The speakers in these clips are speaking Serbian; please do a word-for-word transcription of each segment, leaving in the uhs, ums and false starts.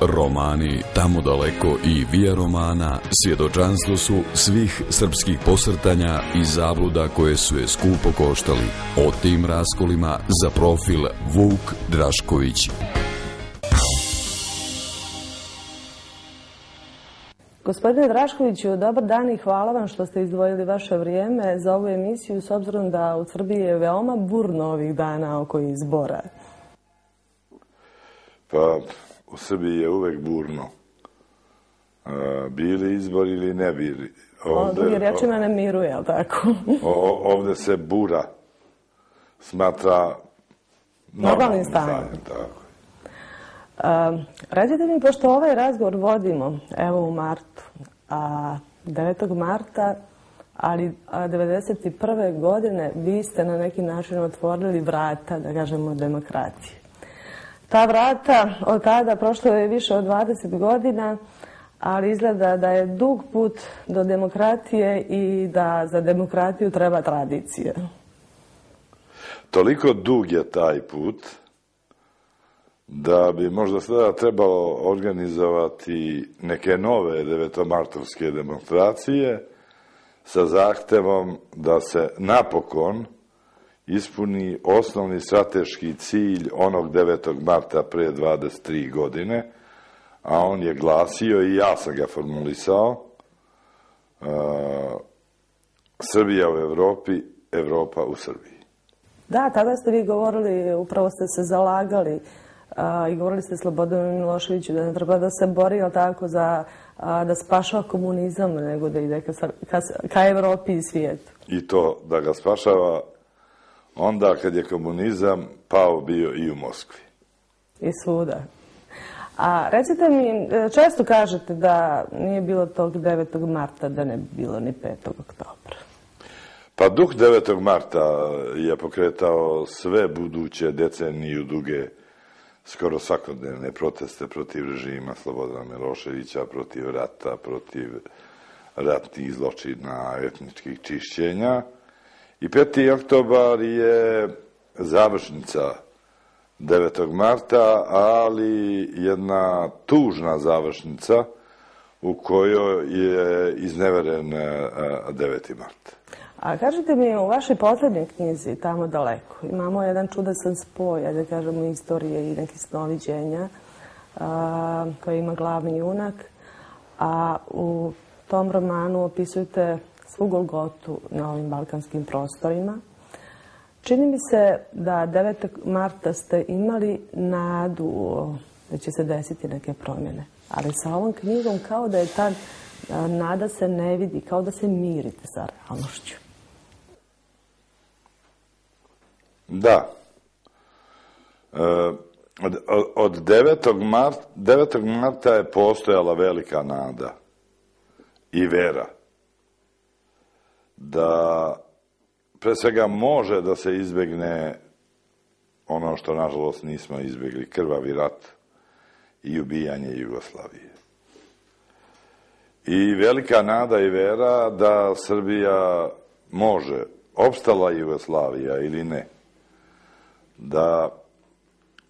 Romani Tamo daleko i Via Romana svjedočanstvo su svih srpskih posrtanja i zabluda koje su je skupo koštali. O tim raskolima za profil Vuk Drašković. Gospodine Draškoviću, dobar dan i hvala vam što ste izdvojili vaše vrijeme za ovu emisiju, s obzirom da u Srbiji je veoma burno ovih dana oko izbora. Pa, u Srbiji je uvek burno. Bili izbori ili ne bili. Drugim rečima ne miruje, je li tako? Ovde se bura smatra normalnim stanjem. Recite mi, pošto ovaj razgovor vodimo, evo u martu, devetog marta, ali devedeset prve godine vi ste na neki način otvorili vrata, da kažemo, demokratije. Ta vrata od tada prošlo je više od dvadeset godina, ali izgleda da je dug put do demokratije i da za demokratiju treba tradicija. Toliko dug je taj put da bi možda sada trebalo organizovati neke nove devetomartovske demonstracije sa zahtevom da se napokon ispuni osnovni strateški cilj onog devetog marta pre dvadeset tri godine, a on je glasio, i ja sam ga formulisao, Srbija u Evropi, Evropa u Srbiji. Da, tada ste vi govorili, upravo ste se zalagali i govorili ste Slobodanu Miloševiću da ne treba da se bori, ali tako, da spašava komunizam, nego da ide ka Evropi i svijetu. I to da ga spašava onda kad je komunizam pao bio i u Moskvi. I svuda. A recite mi, često kažete da nije bilo tog devetog marta, da ne bi bilo ni petog oktobra. Pa duh devetog marta je pokretao sve buduće deceniju duge, skoro svakodnevne proteste protiv režima Slobodana Miloševića, protiv rata, protiv ratnih zločina, etničkih čišćenja. I peti oktobar je završnica devetog marta, ali jedna tužna završnica u kojoj je izneveren deveti mart. A kažete mi, u vašoj poslednjoj knjizi, Tamo daleko, imamo jedan čudesan spoj, da kažemo, istorije i nekih snoviđenja koje ima glavni junak, a u tom romanu opisujete svu Golgotu na ovim balkanskim prostorima. Čini mi se da devetog marta ste imali nadu da će se desiti neke promjene, ali sa ovom knjigom kao da je ta nada se ne vidi, kao da se mirite sa realnošću. Da. Od devetog marta je postojala velika nada i vera da pre svega može da se izbegne ono što nažalost nismo izbegli, krvavi rat i ubijanje Jugoslavije. I velika nada i vera da Srbija može, opstala Jugoslavija ili ne, da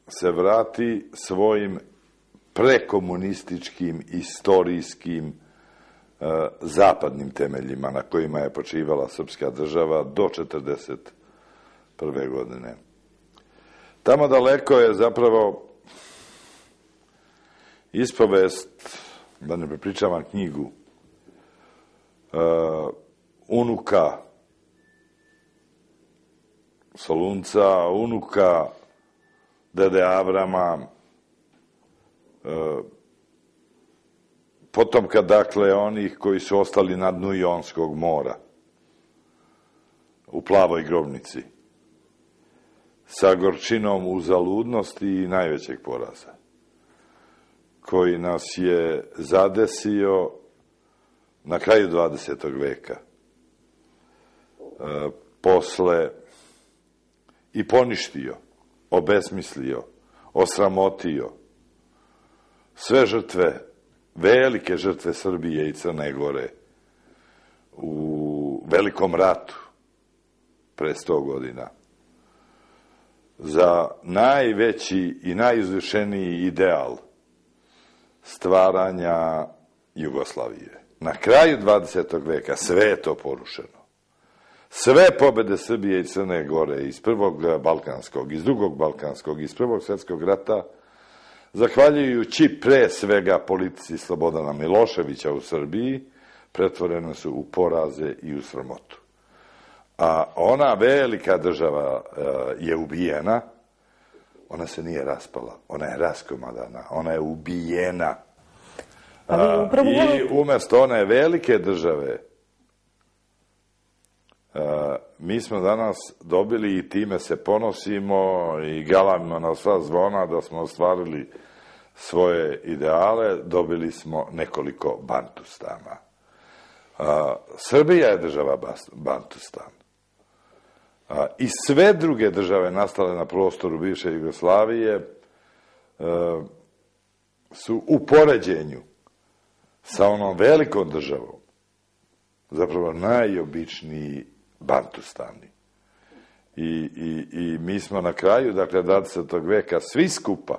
se vrati svojim prekomunističkim, istorijskim, zapadnim temeljima na kojima je počivala srpska država do četrdeset prve godine. Tamo daleko je zapravo ispovest, da ne prepričavam knjigu, unuka Solunca, unuka dede Avrama, potomka, dakle, onih koji su ostali na dnu Jonskog mora, u plavoj grobnici, sa gorčinom uzaludnosti i najvećeg poraza, koji nas je zadesio na kraju dvadesetog veka, posle i poništio, obesmislio, osramotio sve žrtve, velike žrtve Srbije i Crne Gore u velikom ratu pre sto godina. Za najveći i najuzvišeniji ideal stvaranja Jugoslavije. Na kraju dvadesetog veka sve je to porušeno. Sve pobede Srbije i Crne Gore iz prvog Balkanskog, iz drugog Balkanskog, iz prvog svjetskog rata, zahvaljujući pre svega politici Slobodana Miloševića u Srbiji, pretvorene su u poraze i u sramotu. A ona velika država je ubijena, ona se nije raspala, ona je raskomadana, ona je ubijena. I umjesto one velike države, mi smo danas dobili i time se ponosimo i galamimo na sva zvona da smo ostvarili svoje ideale, dobili smo nekoliko Bantustana. Srbija je država Bantustan. I sve druge države nastale na prostoru bivše Jugoslavije su u poređenju sa onom velikom državom zapravo najobičniji Bantustani. I, i, i mi smo na kraju, dakle, dvadesetog veka svi skupa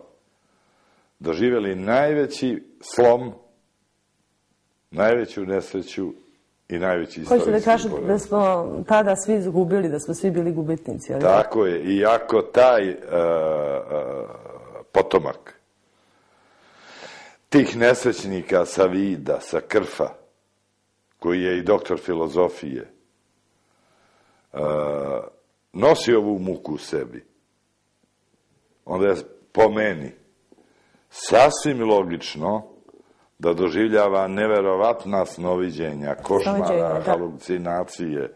doživjeli najveći slom, najveću nesreću i najveći istorijski poraz. Hoćete da kažete da smo tada svi izgubili, da smo svi bili gubitnici? Tako je. I ako taj uh, uh, potomak tih nesrećnika sa Vida, sa Krfa, koji je i doktor filozofije, uh, nosi ovu muku u sebi, onda je po meni sasvim logično da doživljava neverovatna snoviđenja, košmara, halucinacije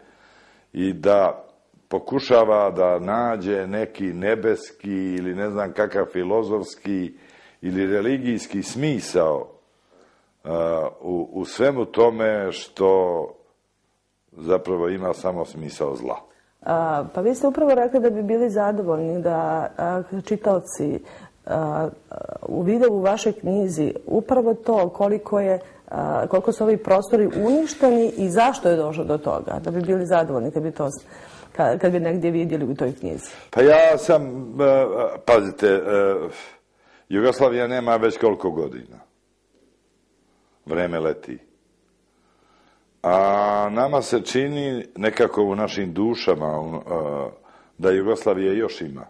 i da pokušava da nađe neki nebeski ili ne znam kakav filozofski ili religijski smisao uh, u, u svemu tome što zapravo ima samo smisao zla. A, pa vi ste upravo rekli da bi bili zadovoljni da a, čitaoci a, uvide u vašoj knjizi upravo to koliko je a, koliko su ovi prostori uništeni i zašto je došlo do toga, da bi bili zadovoljni kad bi to kad, kad bi negdje vidjeli u toj knjizi. Pa ja sam, uh, pazite, uh, Jugoslavija nema već koliko godina. Vreme leti. A nama se čini nekako u našim dušama uh, da Jugoslavije još ima.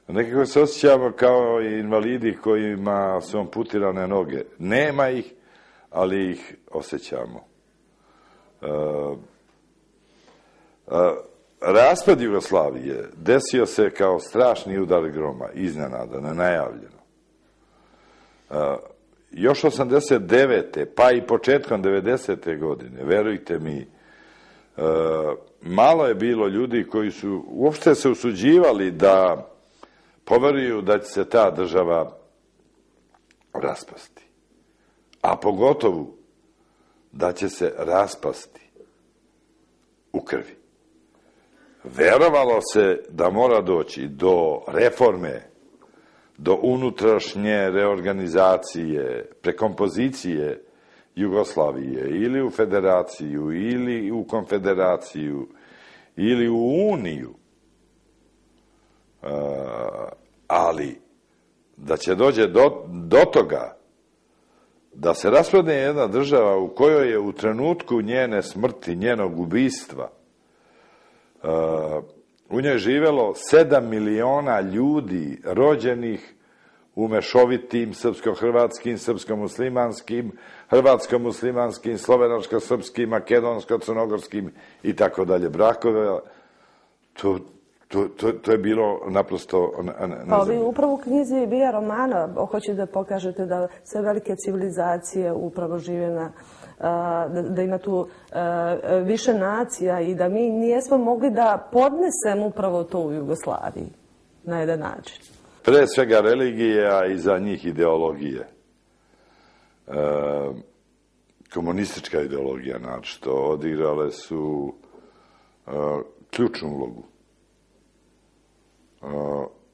Nekako se osjećamo kao invalidi kojima su amputirane noge. Nema ih, ali ih osjećamo. Uh, uh, raspad Jugoslavije desio se kao strašni udar groma, iznenada, nenajavljeno. Uh, još osamdeset devete pa i početkom devedesete godine, verujte mi, uh, malo je bilo ljudi koji su uopšte se usuđivali da poveruju da će se ta država raspasti. A pogotovo da će se raspasti u krvi. Verovalo se da mora doći do reforme, do unutrašnje reorganizacije, prekompozicije Jugoslavije ili u federaciju, ili u konfederaciju, ili u uniju. Uh, ali da će dođe do, do toga da se raspadne jedna država u kojoj je u trenutku njene smrti, njenog ubistva, uh, u njoj živelo sedam miliona ljudi rođenih u mešovitim srpsko-hrvatskim, srpsko-muslimanskim, hrvatsko-muslimanskim, slovenočko-srpskim, makedonsko-crnogorskim i tako dalje brakove. To To, to, to je bilo naprosto nezemljeno. Pa vi upravo u knjizi Vija romana hoćete da pokažete da sve velike civilizacije upravo žive na, da, da ima tu više nacija i da mi nijesmo mogli da podnesemo upravo to u Jugoslaviji na jedan način. Pre svega religije, a i za njih ideologije. E, komunistička ideologija, znači, to odigrale su e, ključnu ulogu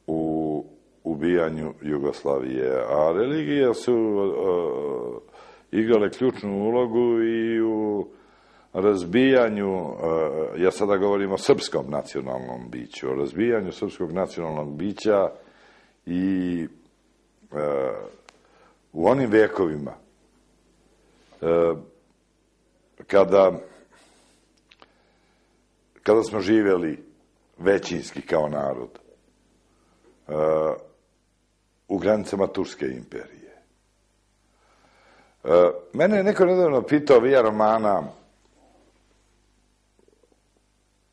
u ubijanju Jugoslavije, a religije su uh, igrale ključnu ulogu i u razbijanju, uh, ja sada govorim o srpskom nacionalnom biću, o razbijanju srpskog nacionalnog bića i uh, u onim vekovima kada kada smo živjeli većinski kao narod u granicama Turske imperije. Mene je neko nedavno pitao Via Romana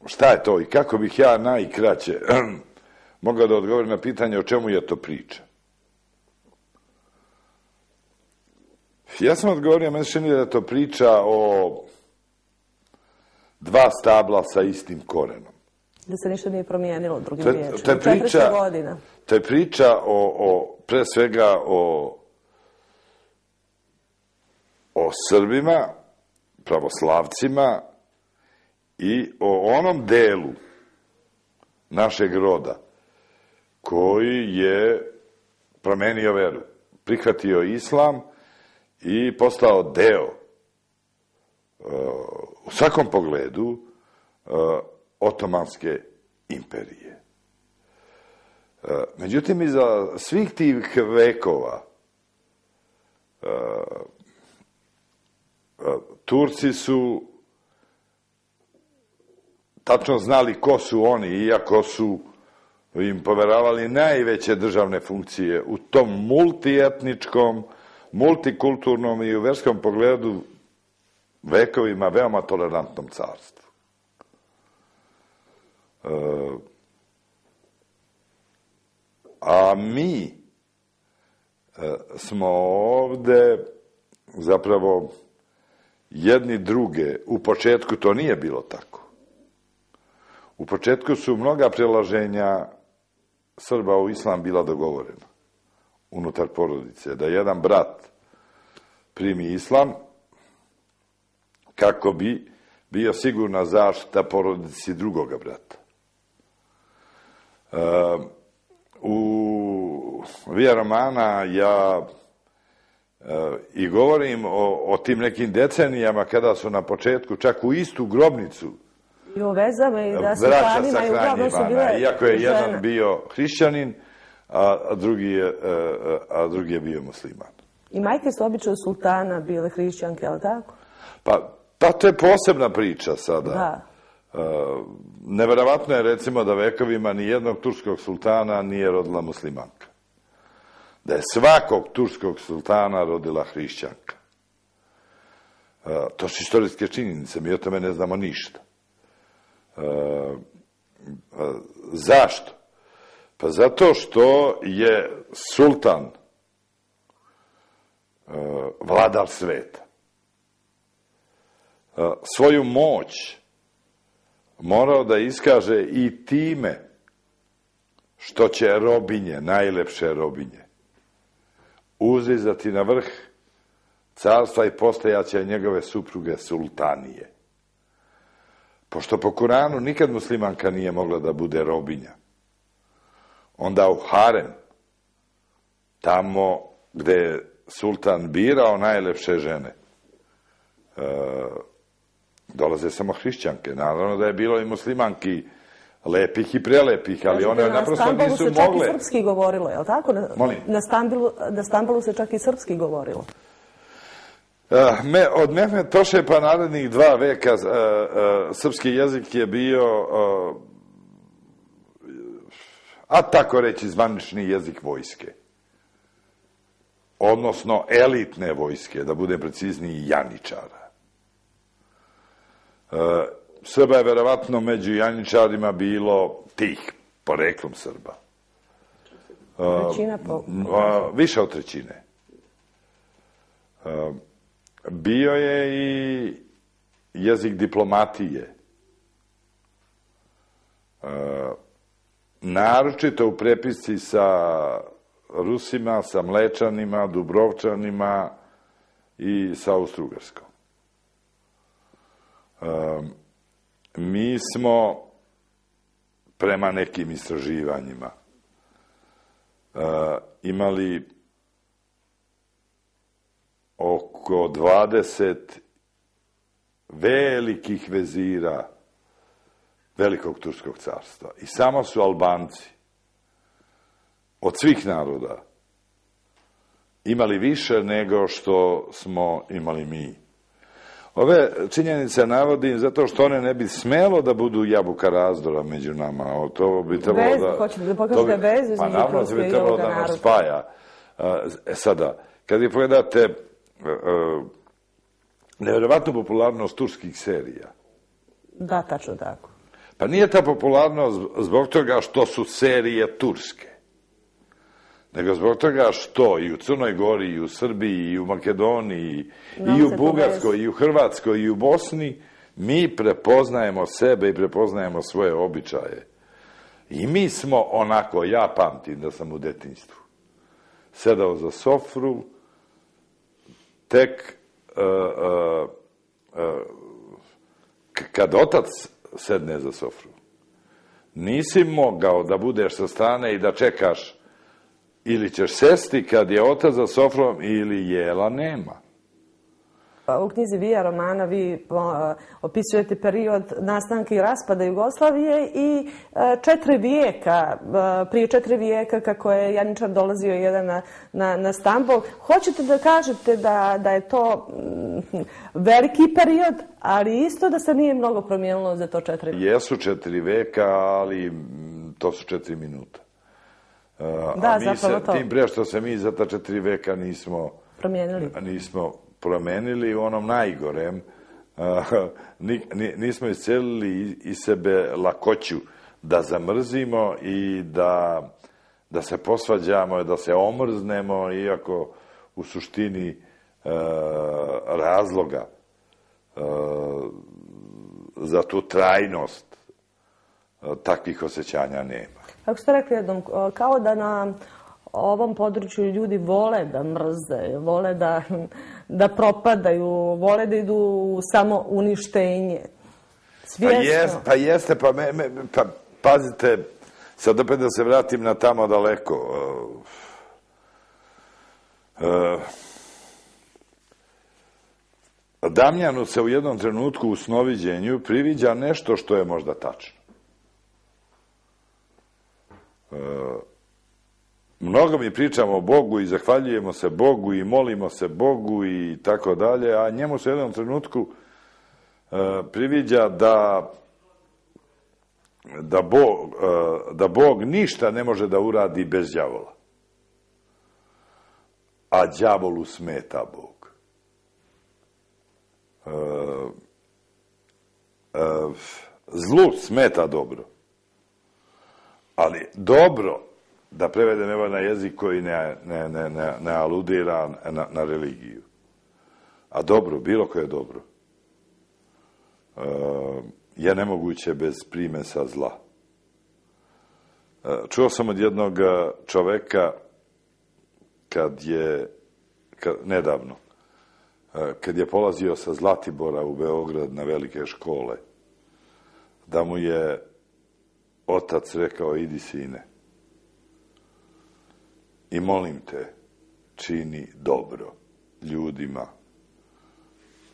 šta je to i kako bih ja najkraće mogao da odgovorim na pitanje o čemu je to priča. Ja sam odgovorio, meni se čini da je to priča o dva stabla sa istim korenom. Da se ništa nije promijenilo drugim riječima. To je priča, to je priča o, o, pre svega o, o Srbima, pravoslavcima i o onom delu našeg roda koji je promenio veru, prihvatio islam i postao deo u svakom pogledu Otomanske imperije. Međutim, iza svih tih vekova Turci su tačno znali ko su oni, iako su im poveravali najveće državne funkcije u tom multietničkom, multikulturnom i u verskom pogledu vekovima veoma tolerantnom carstvu. A mi smo ovde zapravo jedni druge, u početku to nije bilo tako. U početku su mnoga prelaženja Srba u islam bila dogovorena unutar porodice, da jedan brat primi islam kako bi bio sigurna zaštita porodici drugoga brata. U Via Romana ja i govorim o, o tim nekim decenijama kada su na početku čak u istu grobnicu i o vezama i da su hranima i uglavnom su bile iako je jedan žene. Bio hrišćanin, a, a, drugi je, a, a drugi je bio musliman. I majke su obično sultana bile hrišćanke, ali tako? Pa, pa to je posebna priča sada. Da. Uh, neverovatno je recimo da vekovima ni jednog turskog sultana nije rodila muslimanka. Da je svakog turskog sultana rodila hrišćanka. Uh, to su istorijske činjenice, mi o tome ne znamo ništa. Uh, uh, zašto? Pa zato što je sultan uh, vladar sveta. Uh, svoju moć morao da iskaže i time što će robinje, najlepše robinje, uzizati na vrh carstva i postajaće njegove supruge sultanije. Pošto po Kuranu nikad muslimanka nije mogla da bude robinja, onda u harem, tamo gde je sultan birao najlepše žene, e, dolaze samo hrišćanke. Naravno da je bilo i muslimanki lepih i prelepih, ali one naprosto nisu mogle. Na Stambalu se čak i srpski govorilo, je li tako? Molim? Na Stambalu, na Stambalu se čak i srpski govorilo. Me, od Mehmed Toše pa narednih dva veka uh, uh, srpski jezik je bio uh, a tako reći zvanični jezik vojske. Odnosno elitne vojske, da budem precizniji, janičara. Uh, Srba je verovatno među janičarima bilo tih, poreklom Srba. Uh, Trećina po... uh, više od trećine. Uh, Bio je i jezik diplomatije. E, naročito u prepisci sa Rusima, sa Mlečanima, Dubrovčanima i sa Austrougarskom. E, mi smo prema nekim istraživanjima e, imali oko dvadeset velikih vezira Velikog Turskog carstva. I samo su Albanci od svih naroda imali više nego što smo imali mi. Ove činjenice navodim zato što one ne bi smelo da budu jabuka razdora među nama. To bi trebalo Vez, da... hoćete da pokažete vezu između Pa naravno Turske bi i trebalo ovoga da nas naroda. spaja. E sada, kad vi pogledate nevjerovatnu popularnost turskih serija. Da, tačno tako. Pa nije ta popularnost zbog toga što su serije turske, nego zbog toga što i u Crnoj Gori, i u Srbiji, i u Makedoniji, i u Bugarskoj, i u Hrvatskoj, i u Bosni, mi prepoznajemo sebe i prepoznajemo svoje običaje. I mi smo onako, ja pamtim da sam u detinjstvu sedao za sofru, tek kad otac sedne za sofru, nisi mogao da budeš sa strane i da čekaš ili ćeš sesti kad je otac za sofrom ili jela nema. U knjizi Vija romana vi opisujete period nastanka i raspada Jugoslavije i četiri vijeka, prije četiri vijeka kako je Janjičar dolazio jedan na Stambol. Hoćete da kažete da je to veliki period, ali isto da se nije mnogo promijenilo za to četiri vijeka? Jesu četiri vijeka, ali to su četiri minuta. Da, zapravo to. Tim prije što se mi za ta četiri vijeka nismo promijenili. Nismo promenili u onom najgorem. Nismo iscelili iz sebe lakoću da zamrzimo i da se posvađamo, da se omrznemo, iako u suštini razloga za tu trajnost takvih osjećanja nema. Kako ste rekli jednom, kao da na ovom području ljudi vole da mrze, vole da propadaju, vole da idu u samo uništenje. Svjesno. Pa jeste, pa pazite, sad opet da se vratim na tamo daleko. Damjanu se u jednom trenutku u snoviđenju priviđa nešto što je možda tačno. Mnogo mi pričamo o Bogu i zahvaljujemo se Bogu i molimo se Bogu i tako dalje, a njemu se u jednom trenutku priviđa da da Bog ništa ne može da uradi bez đavola. A đavolu smeta Bog. Zlu smeta dobro. Ali dobro, da prevedem evo na jezik koji ne aludira na religiju. A dobro, bilo koje dobro, je nemoguće bez primesa zla. Čuo sam od jednog čoveka kad je, nedavno, kad je polazio sa Zlatibora u Beograd na velike škole, da mu je otac rekao: idi sine i molim te, čini dobro ljudima,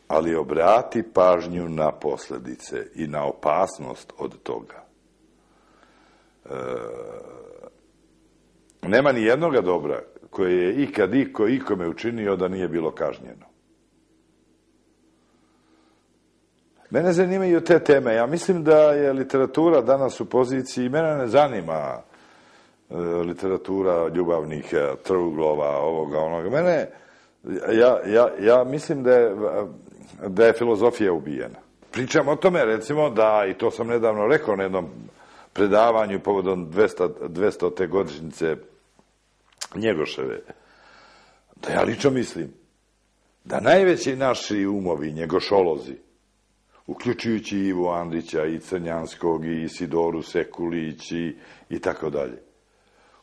ali obrati pažnju na posljedice i na opasnost od toga. Nema ni jednoga dobra koje je ikad iko ikome učinio da nije bilo kažnjeno. Mene zanimaju te teme. Ja mislim da je literatura danas u poziciji, mene ne zanima literatura ljubavnih truglova, ovoga, onoga. Mene, ja mislim da je filozofija ubijena. Pričam o tome, recimo, da, i to sam nedavno rekao na jednom predavanju povodom dvestite godišnjice Njegoševe, da ja lično mislim da najveći naši umovi, njegošolozi, uključujući Ivu Andrića i Crnjanskog i Isidoru Sekulić i tako dalje,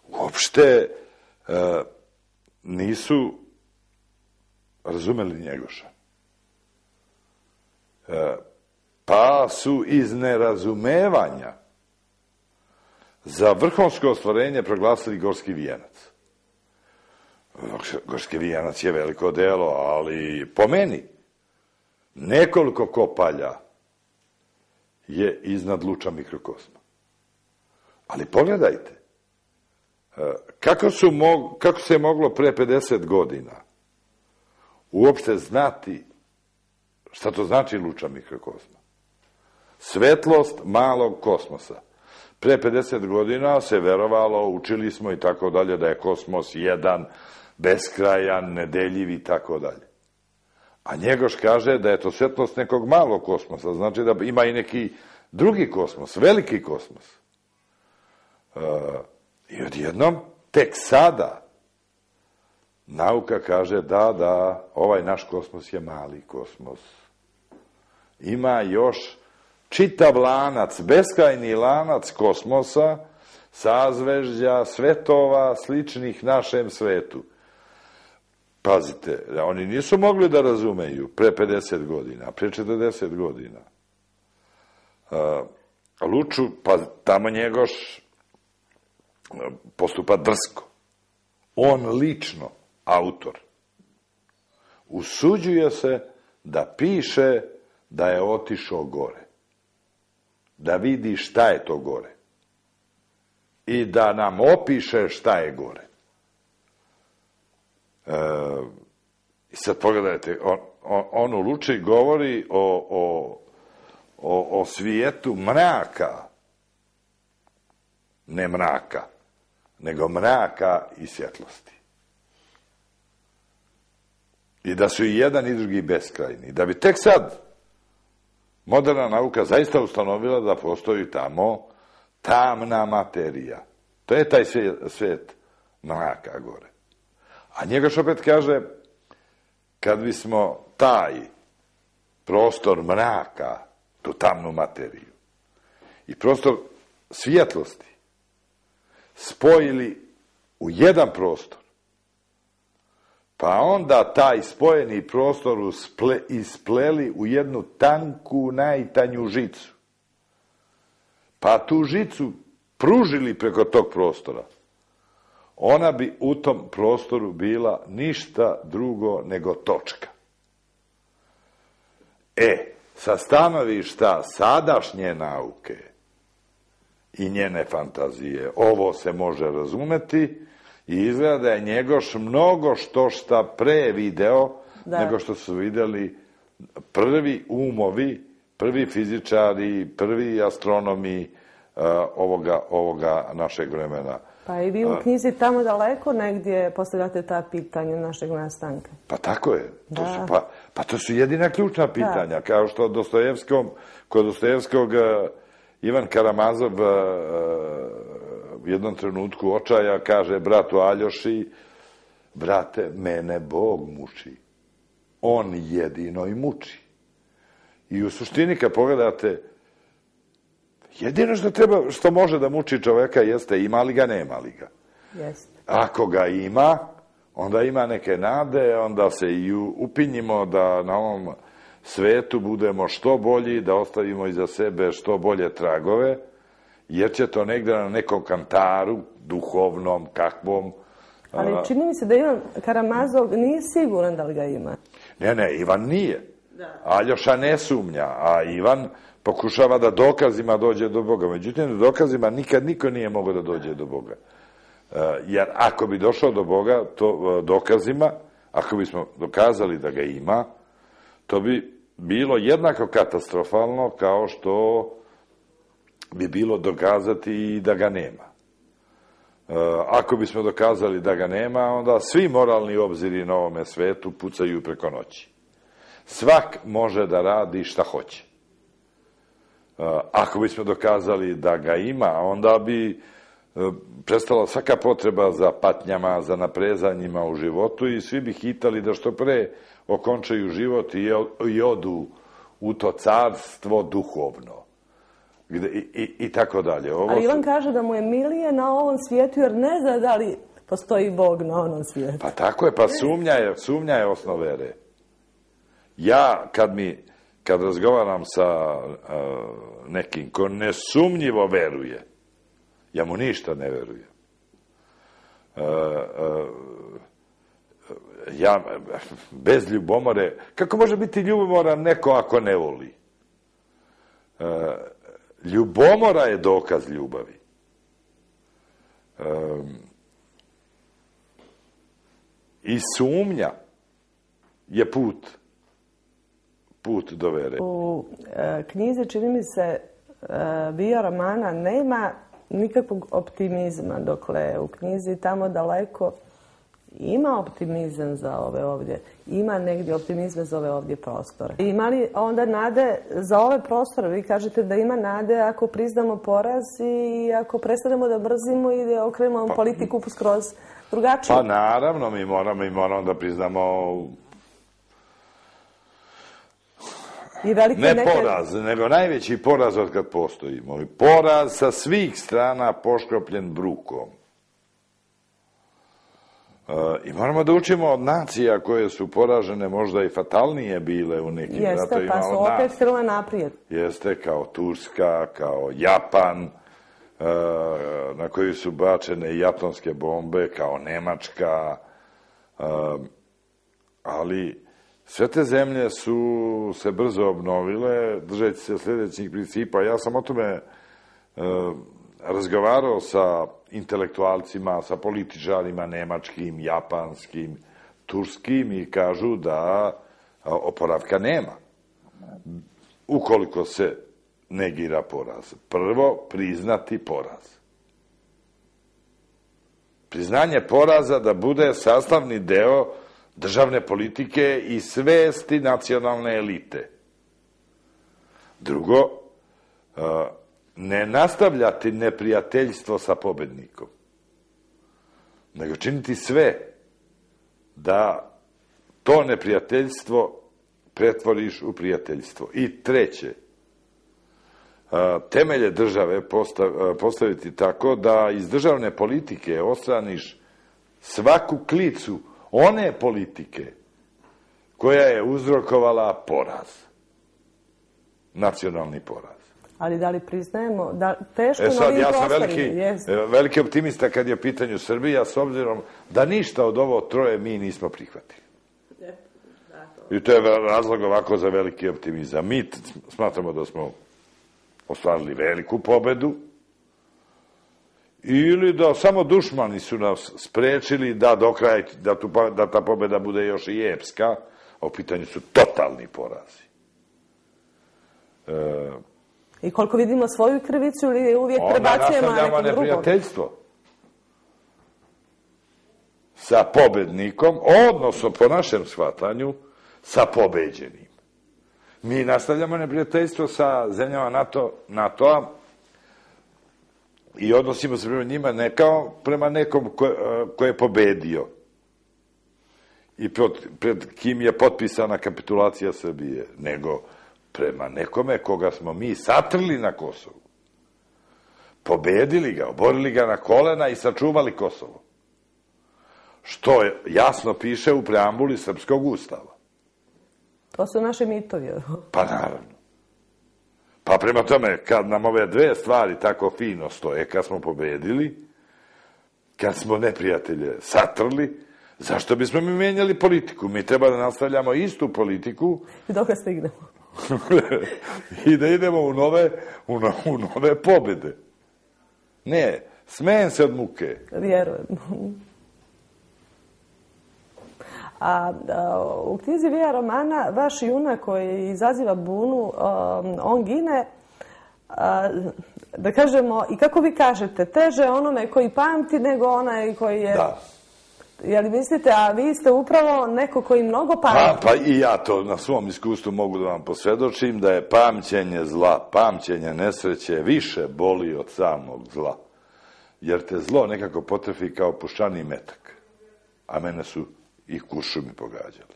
uopšte nisu razumeli Njegoša. Pa su iz nerazumevanja za vrhunsko ostvarenje proglasili Gorski vijenac. Gorski vijenac je veliko delo, ali po meni nekoliko kopalja je iznad luča mikrokosma. Ali pogledajte, Kako, su mog, kako se je moglo pre pedeset godina uopšte znati šta to znači luča mikrokozma? Svetlost malog kosmosa. Pre pedeset godina se verovalo, učili smo i tako dalje, da je kosmos jedan, beskrajan, nedeljiv i tako dalje. A Njegoš kaže da je to svetlost nekog malog kosmosa, znači da ima i neki drugi kosmos, veliki kosmos. E, I odjednom, tek sada, nauka kaže da, da, ovaj naš kosmos je mali kosmos. Ima još čitav lanac, beskrajni lanac kosmosa, sazvežđa, svetova, sličnih našem svetu. Pazite, oni nisu mogli da razumeju pre pedeset godina, pre četrdeset godina. Uh, Luču, pa tamo Njegoš postupa drsko. On lično, autor, usuđuje se da piše da je otišao gore. Da vidi šta je to gore. I da nam opiše šta je gore. E, I sad pogledajte, on, on, on u Luči govori o, o, o, o svijetu mraka. Ne mraka, nego mraka i svjetlosti. I da su i jedan i drugi beskrajni. Da bi tek sad moderna nauka zaista ustanovila da postoji tamo tamna materija. To je taj svijet, svijet mraka gore. A Njegoš opet kaže, kad bismo taj prostor mraka, tu tamnu materiju, i prostor svjetlosti spojili u jedan prostor, pa onda taj spojeni prostor usple, ispleli u jednu tanku, najtanju žicu, pa tu žicu pružili preko tog prostora, ona bi u tom prostoru bila ništa drugo nego točka. E, sa stanovišta sadašnje nauke i njene fantazije, ovo se može razumeti i izgleda da je Njegoš mnogo što šta pre video, da, nego što su videli prvi umovi, prvi fizičari, prvi astronomi uh, ovoga, ovoga našeg vremena. Pa i vi u knjizi Tamo daleko negdje postavljate ta pitanja našeg nastanka. Pa tako je. To su, pa, pa to su jedina ključna pitanja. Da. Kao što Dostojevskom, kod Dostojevskog uh, Ivan Karamazov uh, u jednom trenutku očaja kaže bratu Aljoši, brate, mene Bog muči. On jedino i muči. I u suštini kad pogledate, jedino što treba, što može da muči čoveka jeste ima li ga, nema li ga. Jeste. Ako ga ima, onda ima neke nade, onda se i upinjimo da na ovom svetu budemo što bolji, da ostavimo iza sebe što bolje tragove, jer će to negde na nekom kantaru, duhovnom, kakvom. Ali čini mi se da Ivan Karamazov nije siguran da li ga ima. Ne, ne, Ivan nije. Aljoša ne sumnja, a Ivan pokušava da dokazima dođe do Boga. Međutim, dokazima nikad niko nije mogao da dođe do Boga. Jer ako bi došao do Boga, to dokazima, ako bismo dokazali da ga ima, to bi bilo jednako katastrofalno kao što bi bilo dokazati i da ga nema. Ako bismo dokazali da ga nema, onda svi moralni obziri na ovome svetu pucaju preko noći. Svak može da radi šta hoće. Ako bismo dokazali da ga ima, onda bi prestala svaka potreba za patnjama, za naprezanjima u životu i svi bi hitali da što pre okončaju život i odu u to carstvo duhovno. Gde, i, i, i tako dalje. Ovo Ali Ivan su... kaže da mu je milije na ovom svijetu jer ne zna da li postoji Bog na onom svijetu. Pa tako je, pa sumnja je, sumnja je osnov vere. Ja, kad mi, kad razgovaram sa uh, nekim ko nesumnjivo veruje, ja mu ništa ne verujem. Uh, uh, ja, bez ljubomore, kako može biti ljubomoran neko ako ne voli? Uh, ljubomora je dokaz ljubavi. Um, i sumnja je put, put do vere. U e, knjizi, čini mi se, e, Bio romana nema nikakvog optimizma, dokle u knjizi Tamo daleko ima optimizam za ove ovdje, ima negdje optimizma za ove ovdje prostore. Ima li onda nade za ove prostore? Vi kažete da ima nade ako priznamo poraz i ako prestanemo da brzimo i da okrenemo pa, politiku skroz drugačije. Pa naravno, mi moramo, mi moramo da priznamo I velike ne neke... poraz, nego najveći poraz od kad postojimo. Poraz sa svih strana poškropljen brukom. I moramo da učimo od nacija koje su poražene možda i fatalnije bile u nekim ratovima od nas. Jeste, pa su opet krenule naprijed. Jeste, kao Turska, kao Japan, na koju su bačene jatonske bombe, kao Nemačka, ali sve te zemlje su se brzo obnovile, držeći se sljedećih principa. Ja sam o tome razgovarao sa intelektualcima, sa političarima nemačkim, japanskim, turskim i kažu da oporavka nema. Ukoliko se negira poraz. Prvo, priznati poraz. Priznanje poraza da bude sastavni deo državne politike i svesti nacionalne elite. Drugo, ne nastavljati neprijateljstvo sa pobednikom, nego činiti sve da to neprijateljstvo pretvoriš u prijateljstvo. I treće, temelje države postaviti tako da iz državne politike odstraniš svaku klicu one politike koja je uzrokovala poraz. Nacionalni poraz. Ali da li priznajemo, da teško e sad, na ovim ja sam prostorima, veliki, jest. veliki optimista kad je u pitanju Srbija, s obzirom da ništa od ovo troje mi nismo prihvatili. I to je razlog ovako za veliki optimizam. Mi smatramo da smo ostvarili veliku pobedu ili da samo dušmani su nas sprečili da do kraja, da, tu, da ta pobeda bude još i epska, a u pitanju su totalni porazi. E, I koliko vidimo svoju krivicu ili uvijek prebacujemo na nekom drugom? Onda nastavljamo neprijateljstvo sa pobednikom, odnosno po našem shvatanju sa pobeđenim. Mi nastavljamo neprijateljstvo sa zemljama NATO, NATO-a i odnosimo se prema njima ne kao prema nekom ko, ko je pobedio i pred, pred kim je potpisana kapitulacija Srbije, nego prema nekome koga smo mi satrli na Kosovu. Pobedili ga, oborili ga na kolena i sačuvali Kosovo. Što jasno piše u preambuli Srpskog ustava. To su naše mitovi. Pa naravno. Pa prema tome, kad nam ove dve stvari tako fino stoje, kad smo pobedili, kad smo neprijatelje satrli, zašto bismo mi menjali politiku? Mi treba da nastavljamo istu politiku. I dok stignemo. I da idemo u nove, u, no, u nove pobjede. Ne, smejem se od muke. Vjerujem. A, a u knjizi Vija romana vaš junak koji izaziva bunu, a, on gine, a, da kažemo, i kako vi kažete, teže onome koji pamti nego onaj koji je... Da. Je li mislite, a vi ste upravo neko koji mnogo pamti? Pa, pa i ja to na svom iskustvu mogu da vam posvjedočim da je pamćenje zla, pamćenje nesreće više boli od samog zla. Jer te zlo nekako potrefi kao puščani metak. A mene su i kuršumi pogađali.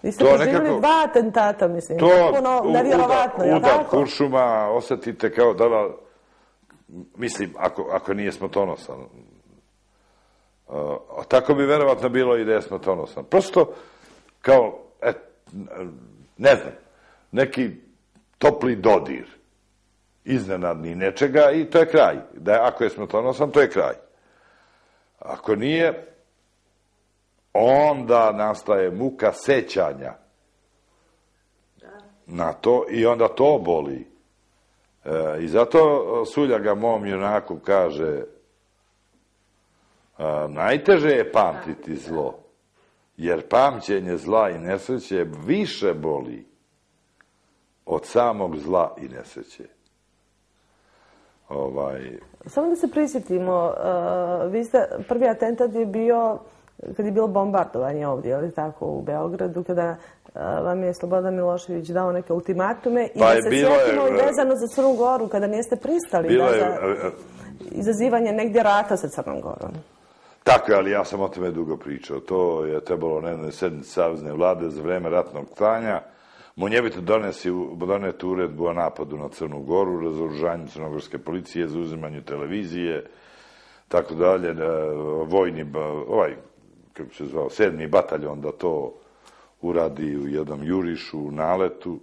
Vi ste proživjeli dva atentata, mislim. To puno nevjerovatno, je li tako? Udar kuršuma osjetite kao da, mislim, ako, ako nije smrtonosan. Uh, tako bi verovatno bilo i da je smrtonosan. Prosto, kao, et, ne znam, neki topli dodir, iznenadni nečega i to je kraj. Da je, ako je smrtonosan, to je kraj. Ako nije, onda nastaje muka sećanja na to i onda to boli. E, I zato Suljaga mom junaku kaže, a, najteže je pamtiti zlo, Jer pamćenje zla i nesreće više boli od samog zla i nesreće. Ovaj... Samo da se prisjetimo, uh, vi ste, prvi atentat je bio kad je bilo bombardovanje ovdje, ali tako, u Beogradu, kada uh, vam je Slobodan Milošević dao neke ultimatume i pa da se sjetimo i vezano za Crnu Goru, kada niste pristali da, je, za izazivanje negdje rata sa Crnom Gorom. Tako je, ali ja sam o tome dugo pričao. To je trebalo na jednoj sednici Savezne vlade za vreme ratnog stanja. Munjevito doneti uredbu o napadu na Crnu Goru, razoružanju crnogorske policije, za uzimanju televizije, tako dalje, vojni, ovaj, kako se zvao, sedmi bataljon da to uradi u jednom jurišu, u naletu.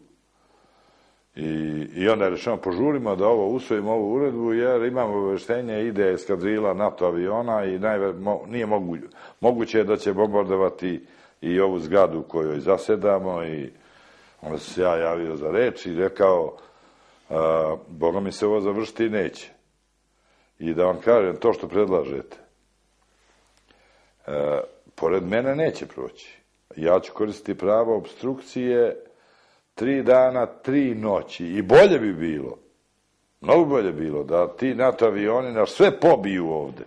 I, i onda je rečeno, požurimo da ovo usvojimo ovu uredbu, jer imamo obaveštenje, ide eskadrila NATO aviona i najve, mo, nije mogu, moguće je da će bombardovati i ovu zgradu u kojoj zasedamo. I onda sam se ja javio za reč i rekao, a, Boga mi se ovo završiti neće. I da vam kažem, to što predlažete, a, pored mene neće proći. Ja ću koristiti pravo obstrukcije tri dana, tri noći. I bolje bi bilo, mnogo bolje bilo, da ti NATO avioni nas sve pobiju ovde,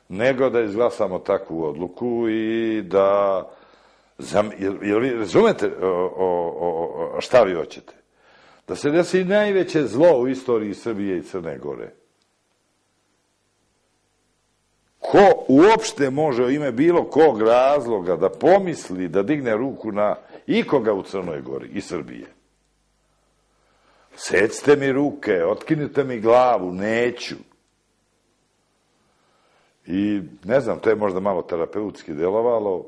nego da izglasamo takvu odluku i da... Zam, jel, jel vi razumete o, o, o, šta vi hoćete? Da se desi najveće zlo u istoriji Srbije i Crne Gore. Ko uopšte može u ime bilo kog razloga da pomisli da digne ruku na ikoga u Crnoj Gori i Srbije? Secite mi ruke, otkinite mi glavu, neću. I ne znam, to je možda malo terapeutski delovalo.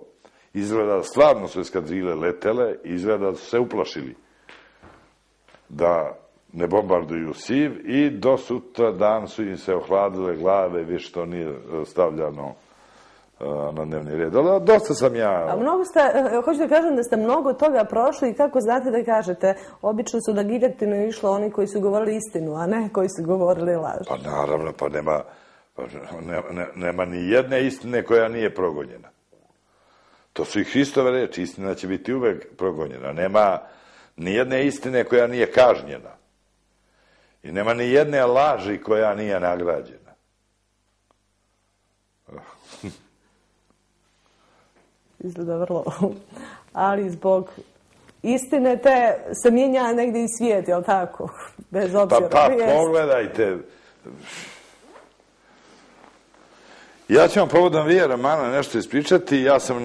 Izgleda da stvarno su eskadrile letele, izgleda da su se uplašili da ne bombarduju Siv i do sutra dan su im se ohladile glave, više to nije stavljano na dnevni red. Ali dosta sam ja... A mnogo ste, hoću da kažem da ste mnogo toga prošli i kako znate da kažete, obično su da giljotinu išlo oni koji su govorili istinu, a ne koji su govorili laž. Pa naravno, pa nema, pa nema, nema ni jedne istine koja nije progonjena. To su i Hristove reči, istina će biti uvek progonjena. Nema ni jedne istine koja nije kažnjena. I nema ni jedne laži koja nije nagrađena. Izgleda vrlo. Ali zbog istine te se mijenja negdje i svijet, jel tako? Bez obzira. Pa, pa pogledajte. Ja ću vam povodom Vije Romana nešto ispričati. Ja sam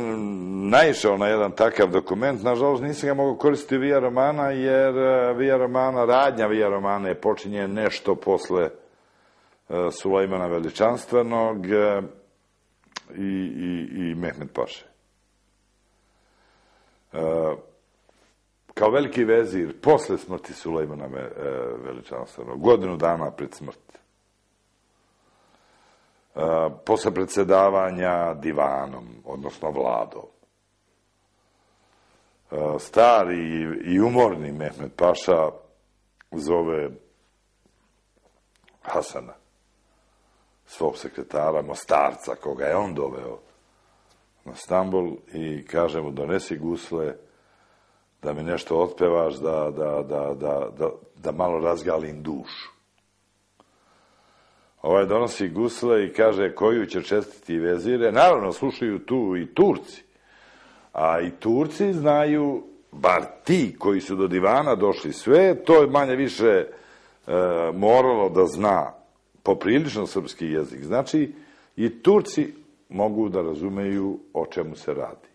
naišao na jedan takav dokument. Nažalost, nisam ga mogao koristiti Vija Romana, jer Vija Romana, radnja Vija Romana je počinje nešto posle Sulejmana Veličanstvenog i, i, i Mehmed Paše. Kao veliki vezir, posle smrti Sulejmana Veličanstvenog, godinu dana pred smrt, posle predsedavanja divanom, odnosno vladom, stari i umorni Mehmed Paša zove Hasana, svog sekretara, Mostarca, koga je on doveo na Stambol, i kaže mu, donesi gusle, da mi nešto otpevaš, da, da, da, da, da, da malo razgalim dušu. Ovaj donosi gusle i kaže, koju će čestiti vezire. Naravno, slušaju tu i Turci. A i Turci znaju, bar ti koji su do divana došli sve, to je manje više e, moralo da zna poprilično srpski jezik. Znači, i Turci mogu da razumeju o čemu se radi.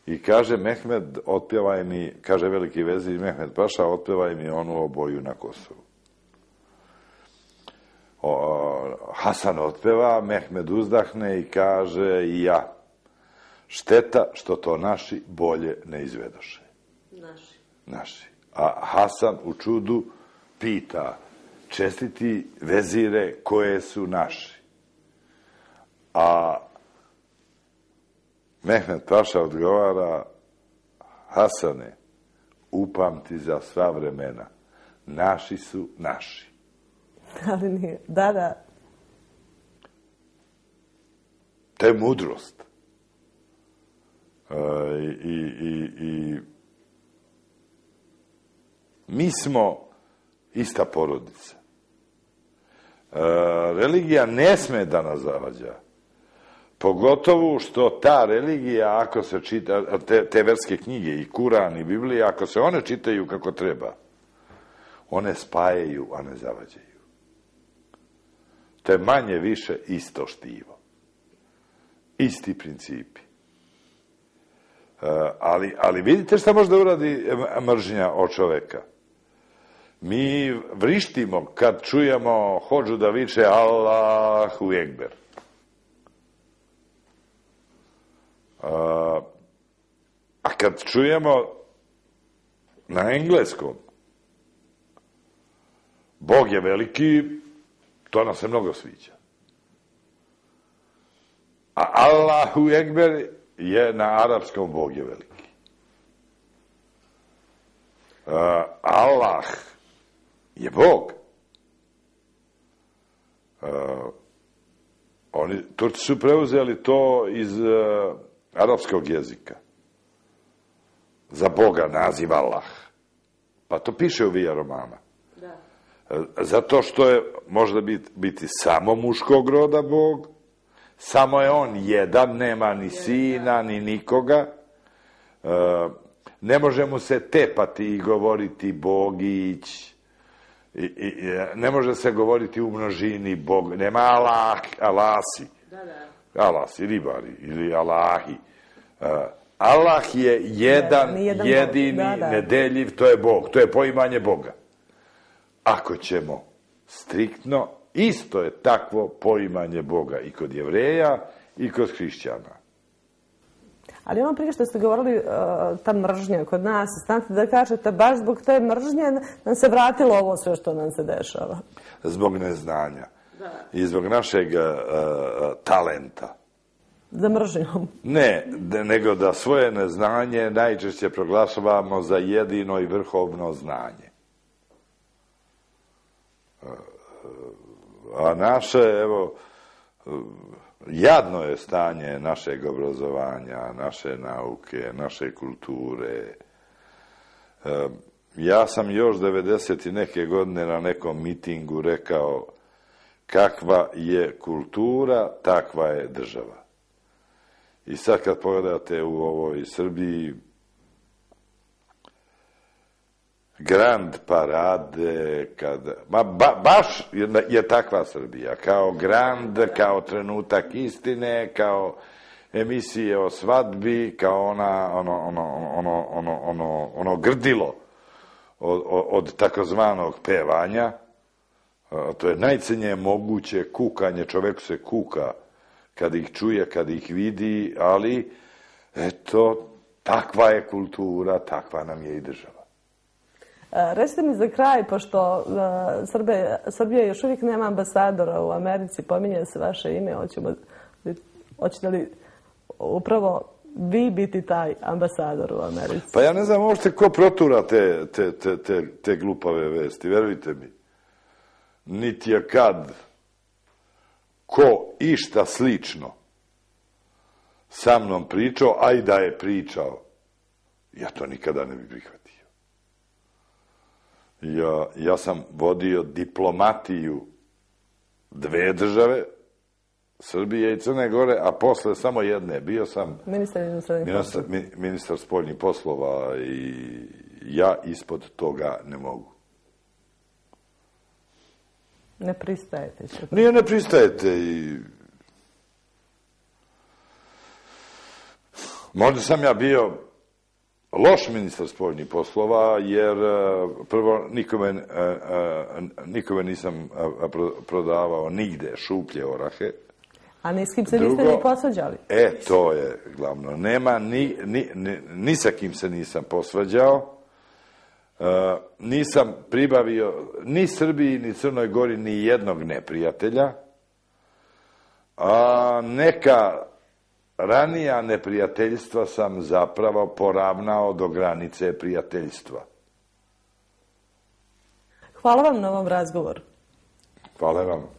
I kaže, Mehmed, otpevaj mi, kaže veliki vezir Mehmed Paša, otpevaj mi onu Oboju na Kosovu. O, Hasan otpeva, Mehmed uzdahne i kaže, i ja, šteta što to naši bolje ne izvedoše. Naši. Naši. A Hasan u čudu pita, čestiti vezire koje su naši. A Mehmed Paša odgovara, Hasane, upamti za sva vremena, naši su naši. Ali nije, da, da. To je mudrost. I, i, i mi smo ista porodica. Religija ne sme da nas zavađa. Pogotovo što ta religija, ako se čita, te, te verske knjige, i Kuran, i Biblija, ako se one čitaju kako treba, one spajaju, a ne zavađaju. To je manje više isto štivo. Isti principi. Ali, ali vidite šta može da uradi mržnja od čoveka. Mi vrištimo kad čujemo hodžu da viče Allahu Ekber. A kad čujemo na engleskom Bog je veliki, to nam se mnogo sviđa. A Allahu Ekber je na arapskom Bog je veliki. Allah je Bog. Oni, Turci su preuzeli to iz arapskog jezika. Za Boga naziv Allah. Pa to piše u Via Romana. Da. Zato što je, možda biti, biti samo muškog roda Bog, samo je on jedan, nema ni sina, ni nikoga. Ne može mu se tepati i govoriti Bogić. I, i, ne može se govoriti u množini Bog. Nema Allah, Alasi. Da, da. Alasi, ribari ili Allahi. Allah je jedan, jedan jedini, da, da. Nedeljiv, to je Bog, to je poimanje Boga. Ako ćemo striktno, isto je takvo poimanje Boga i kod Jevreja i kod hrišćana. Ali ono prije što ste govorili, ta mržnja kod nas, stanite da kažete, baš zbog te mržnje nam se vratilo ovo sve što nam se dešava. Zbog neznanja. Da. I zbog našeg uh, talenta. Za mržnjom? Ne, nego da svoje neznanje najčešće proglašavamo za jedino i vrhovno znanje. A naše, evo, jadno je stanje našeg obrazovanja, naše nauke, naše kulture. Ja sam još devedeset i neke godine na nekom mitingu rekao kakva je kultura, takva je država. I sad kad pogledate u ovoj Srbiji, grand parade, kad, ma, ba, baš je, je takva Srbija, kao grand, kao trenutak istine, kao emisije o svadbi, kao ona, ono, ono, ono, ono, ono, ono grdilo od, od takozvanog pevanja. To je najcenije moguće kukanje, čovek se kuka kad ih čuje, kad ih vidi, ali eto, takva je kultura, takva nam je i država. Recite mi za kraj, pošto Srbe, Srbija još uvijek nema ambasadora u Americi, pominje se vaše ime, hoćemo, hoćete li upravo vi biti taj ambasador u Americi? Pa ja ne znam uopšte ko protura te, te, te, te, te glupave vesti, verujte mi. Niti je kad ko išta slično sa mnom pričao, a i da je pričao, ja to nikada ne bih prihvatio. Ja, ja sam vodio diplomatiju dve države, Srbije i Crne Gore, a posle samo jedne. Bio sam ministar, ministar, ministar spoljnih poslova i ja ispod toga ne mogu. Ne pristajete? Nije, ne pristajete i... Možda sam ja bio loš ministar spoljnih poslova, jer prvo nikome, nikome nisam prodavao nigde šuplje orahe. A ni s kim se niste ni posvađali? E, to je glavno. Nema, ni, ni, ni, ni sa kim se nisam posvađao. Uh, nisam pribavio ni Srbiji, ni Crnoj Gori ni jednog neprijatelja. A neka ranija neprijateljstva sam zapravo poravnao do granice prijateljstva. Hvala vam na ovom razgovoru. Hvala vam.